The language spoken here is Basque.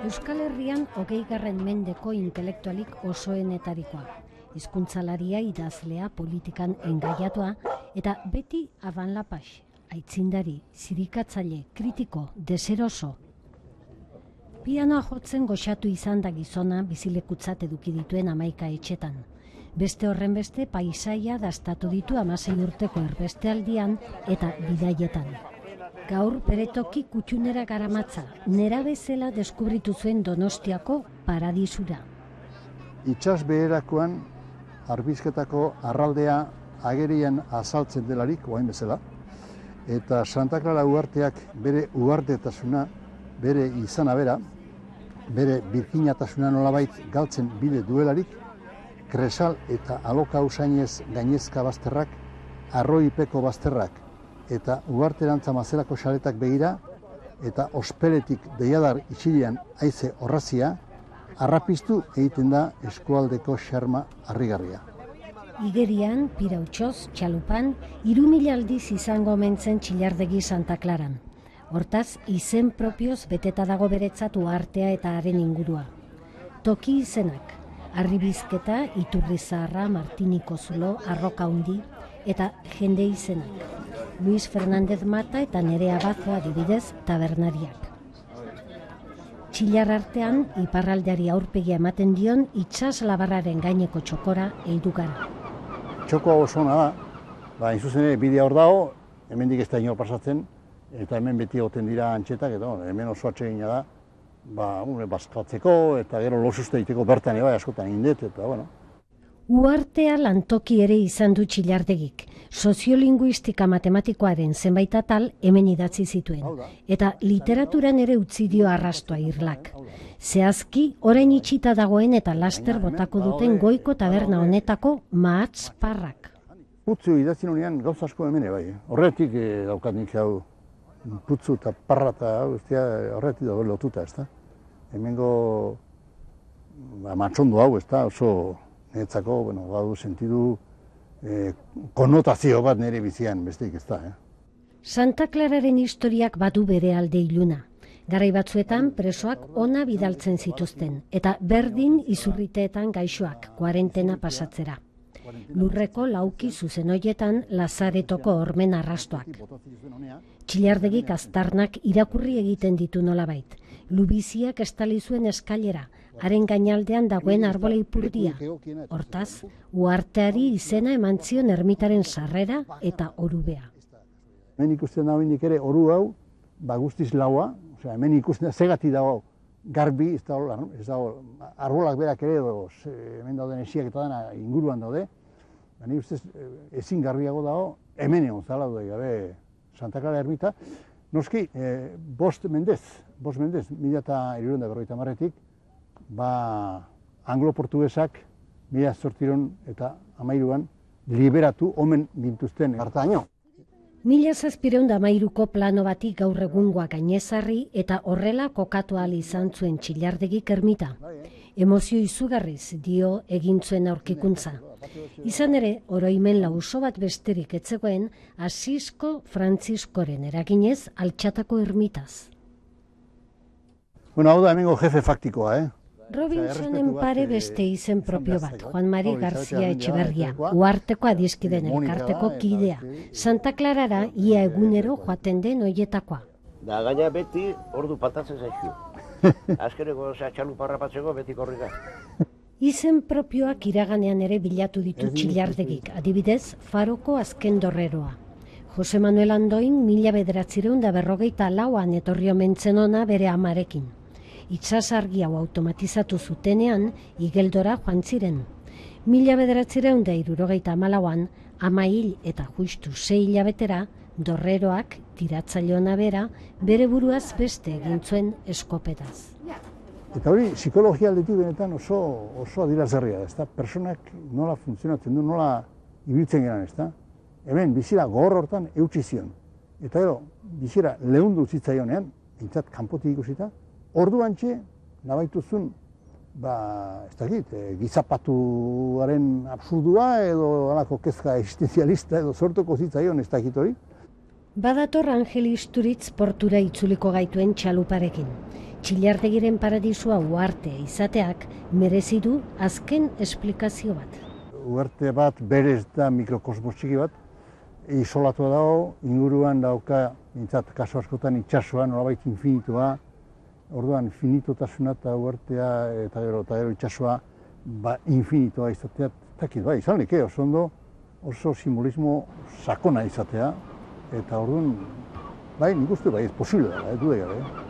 Euskal Herrian 20. mendeko intelektualik osoenetarikoa. Hizkuntzalaria, idazlea, politikan engaiatua eta beti Aban Lapax, aitzindari, zirikatzaile, kritiko, deseroso. Pianoa jotzen goxatu izan da gizona bizilekutzat eduki dituen 11 etxetan. Beste horren beste paisaia dastatu ditu 16 urteko erbestealdian eta bidaietan. Gaur beretoki kutxunera garamatza, nera bezala deskubritu zuen Donostiako paradisura. Itsas beherakoan Arbizketako arraldea agerian azaltzen delarik, oain bezala, eta Santa Clara uharteak bere uhartetasuna, bere izana bera, bere birkinatasuna nolabait galtzen bide duelarik, Kresal eta Aloka usainez gainezka bazterrak, Arroipeko bazterrak eta uharterantza mazelako xaletak begira, eta ospeletik deiadar itxilian haize horrazia, harrapiztu egiten da eskualdeko xarma harrigarria. Igerian, Pirautxoz, Txalupan, 3000 aldiz izango omentzen Txillardegi Santa Claran. Hortaz, izen propioz beteta dago beretzat uhartea eta haren ingurua. Toki izenak, Arribizketa, Iturrizaharra, Martiniko Zulo, Arroka Hundi eta jende izenak. Luis Fernández Mata eta Nerea Bazo adibidez tabernariak. Txillar artean, iparraldeari aurpegia ematen dion itsas labarraren gaineko txokora heldu gara. Txokoa oso ona da, hain zuzen ere bidea hor dago, hemendik ez da inor pasatzen, eta hemen beti egoten dira antxetak, eta hemen oso atsegina da, bazkatzeko eta gero losuste egiteko bertan bai askotan indet, eta bueno. Uhartea lantoki ere izan du Txillardegik. Soziolinguistika matematikoaren zenbait atal hemen idatzi zituen, eta literaturan ere utzi dio arrastoa irlak. Zehazki, orain itxita dagoen eta laster botako duten goiko taberna honetako mahatz parrak. Putzu idatzi nunean gauza asko hemen bai. Horretik daukat nik hau putzu eta parra eta horretik dago lotuta, ezta? Hemengo matxondo hau, ezta? Oso niretzako, badu sentidu konnotazio bat nire bizian besteik ez da. Santa Clararen historiak badu bere alde iluna. Garai batzuetan presoak ona bidaltzen zituzten, eta berdin izurriteetan gaixoak, kuarentena pasatzera. Lurreko lauki zuzen hoietan Lazaretoko hormen arrastoak. Txillardegik aztarnak irakurri egiten ditu nolabait. Lubiziak estali zuen eskailera, haren gainaldean dagoen arbola ipurdia. Hortaz, uharteari izena eman zion ermitaren sarrera eta orubea. Hemen ikusten da hendik ere oru hau, guztiz laua, hemen ikusten da zegati dago garbi, ez dago arbolak berak ere, hemen dauden esiak eta dena inguruan daude, ni ustez ezin garbiago dago, hemen egon zala dut gabe Santa Clara ermita. Noski, 5 mendez, 1750etik, anglo-portugesak 1813an liberatu omen gintuzten hartaino. 1713ko plano bati gaur egungoa gainezarri eta horrela kokatu ahal izan zuen Txillardegik ermita. Emozio izugarriz dio egin zuen aurkikuntza. Izan ere, oroimen lauso bat besterik etzegoen Asisko Frantziskoren eraginez altxatako ermitaz. Hau da hemengo jefe faktikoa, Robinsonen pare beste izen propio bat, Juan Mari Garzia Etxeberria, uharteko adiskiden elkarteko kidea. Santa Clarara ia egunero joaten den hoietakoa. Da gaina beti ordu patatzen zaizio. Azkeneko txaluparra patzeko beti korrika. Izen propioak iraganean ere bilatu ditu Txillardegik, adibidez, Faroko azken dorreroa. Jose Manuel Andoin 1954an etorri omen zen ona bere amarekin. Itsasargi hau automatizatu zutenean, Igeldora joan ziren. 1974an, ama hil eta justu 6 hilabetera, dorreroak, tiratzailona bera, bere buruaz beste egin zuen eskopetaz. Eta hori, psikologia aldetik benetan oso adierazgarria da, personak nola funtzionatzen du, nola ibiltzen geran, hemen bizira gogor hortan eutsi zion. Eta gero, bizira lehundu zitzaionean, bintzat kanpotik ikusita, orduantxe nabaituzun, gizapatuaren absurdua edo alako kezka existenzialista edo sortuko zitzaion ez dakit hori. Badator Angel Isturitz portura itzuliko gaituen txaluparekin. Txillartegiren paradisua uhartea izateak merezi du azken esplikazio bat. Uharte bat berez da mikrokosmos txiki bat, isolatua dago, inguruan dauka, mintzat, kasu askotan itsasoa, nolabait infinitua, orduan finitotasuna eta uhartea eta gero itsasoa infinitua izatea, takit, izan leke, oso ondo, oso simbolismo sakona izatea, eta orduan, nik uste, ez posible da, dude gabe.